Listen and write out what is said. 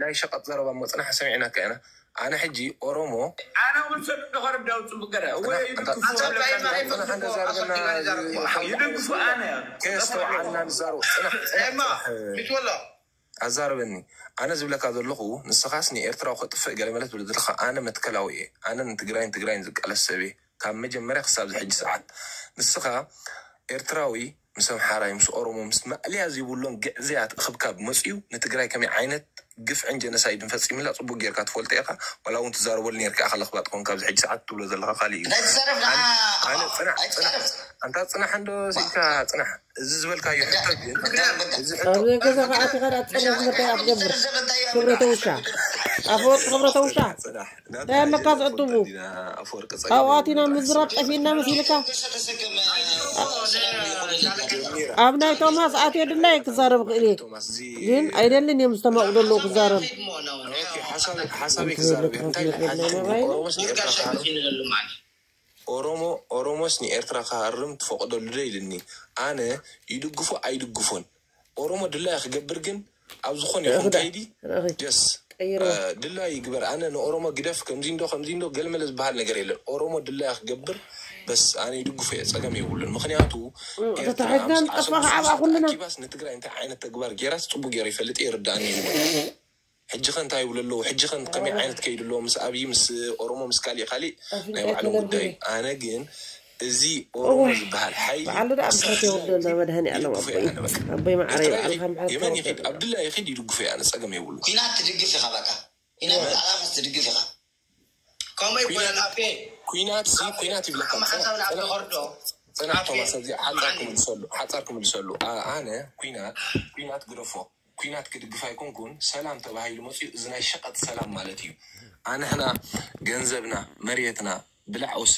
ናይ ሸቐጥ ዘረባ እሞ ጽናሕ ሰሚዕናካ ኢና። ኣነ ሕጂ ኦሮሞ ኣነ እውን ሰብ እንደኸርዳው ጽቡቅ ገረ እወ ይድግፉ ጽናሕ እንደዛርበና ይድግፉ ኣነ ከየስተውዓልና ንዛረብ ጽናሕ ጽናሕ ኤማ ጽናሕ ሚትወሎ ኣዛርበኒ። ኣነ ዝብለካ ዘለኹ ንስኻስ ንኤርትራዊ ከጥፍእ ገለ መለት ትብል ዘለኻ፣ ኣነ መትከላዊ እየ። ኣነ ንትግራይን ትግራይን ዝቃለስ ሰብ እየ ካብ መጀመርያ ክሳብ ዝሕጂ ሰዓት። ንስኻ ኤርትራዊ ምስ ኣምሓራይ ምስ ኦሮሞ ምስ ማእልያ ዘይብሎም ግዕዝያት እኽብካብ መፅዩ ንትግራይ ከመይ ዓይነት ግፍዕን ጀነሳይድን ፈፂምላ ፅቡቅ ጌርካ ትፈልጦ ኢኻ። ዋላ እውን ትዛረበሉ ኔርካ ኢኻ ለኽባጥ ኮንካ ኣብዚ ሕጂ ሰዓት ትብሎ ዘለኻ ካሊእ እዩ። እንታይ ትዛረብ ንዓ ኣነ ጽናሕ ጽናሕ ኣይትዛረብ ኣንታ ጽናሕ እንዶ ሲልካ ጽናሕ እዚ ዝበልካዮ ሕቶ ግን እዚ ሕቶ ኣብ ገዛ ከኣቲ ከዳ ትጸርፍ ምርታይ ኣትገብር ክብረተ ውሻ ኣፈወርቂ ክብረተ ውሻ እንታይ ኣለካ ዝዕጥቡ ኣብኡ ኣቲና ምዝራብ ጠፊእና መሲልካ ኣብ ናይ ቶማስ ኣትዮ ድላይ ክዛረብ ክእል እየ ግን ኣይደልን እዮም ዝተማቕዶ ኣለዉ ክዛረብ ሓሳበይ ክዛረብ እየ እንታይ ኢለ ሓንቲ ኦሮሞስ ንኤርትራ ክሃርም ኦሮሞ ኦሮሞስ ንኤርትራ ክሃርም ትፈቕደሉ ዶ ኢልኒ ኣነ ይድግፎ ኣይድግፎን ኦሮሞ ድላያ ክገብር ግን ኣብ ዝኾነ ይኹን ከይዲ ጀስ ድላዩ ይግበር ኣነ ንኦሮሞ ግደፍ ከምዚ እንዶ ከምዚ እንዶ ገልመለ ዝበሃል ነገር የለን ኦሮሞ ድላያ ክገብር በስ ኣነ ይድግፎ እየ ፀገም የብሉን ምክንያቱ ተታሒዝና ንጠፋ ከዓ ብኣ ኩልና ኪባስ ንትግራይ እንታይ ዓይነት ተግባር ጌራስ ፅቡቅ ገይሩ ይፈልጥ ይርዳእኒ ይብሉ ሕጂ ከ እንታይ ይብሉ ኣለዉ ሕጂ ከ ከመይ ዓይነት ከይዱ ኣለዎ ምስ ኣብይ ምስ ኦሮሞ ምስ ካሊእ ካሊእ ናይ ባዕሎም ጉዳይ ኣነ ግን እዚ ኦሮሞ ዝበሃል ሓይሊ በዓሉ ደኣ ብሕት የወርዶ መድሃኒ ኣለም ኣቦይ ኣቦይ ማዕረ ይበዓልካ የመን ይኸድ ኣብ ድላ ይኸድ ይድግፎ ኣነ ፀገም የብሉ ኩናት ትድግፍ ኢኻ በቃ ኩናት ኣላፋስ ትድግፍ ኢኻ ከምኡ ይኮነን ኣፌ ኩናት ሲ ኩናት ይብለካ ሓሳብ ናብ ተኸርዶ ፅናሕ ቶማስ እዚ ሓፃር ክምልሰሉ ሓፃር ክምልሰሉ ኣነ ኩናት ኩናት ግደፎ ኩናት ክድግፍ ኣይኮንኩን ሰላም ተባሂሉ መፅኡ እዚ ናይ ሸቀጥ ሰላም ማለት እዩ ኣንሕና ገንዘብና መሬትና ብላዕ ወስተ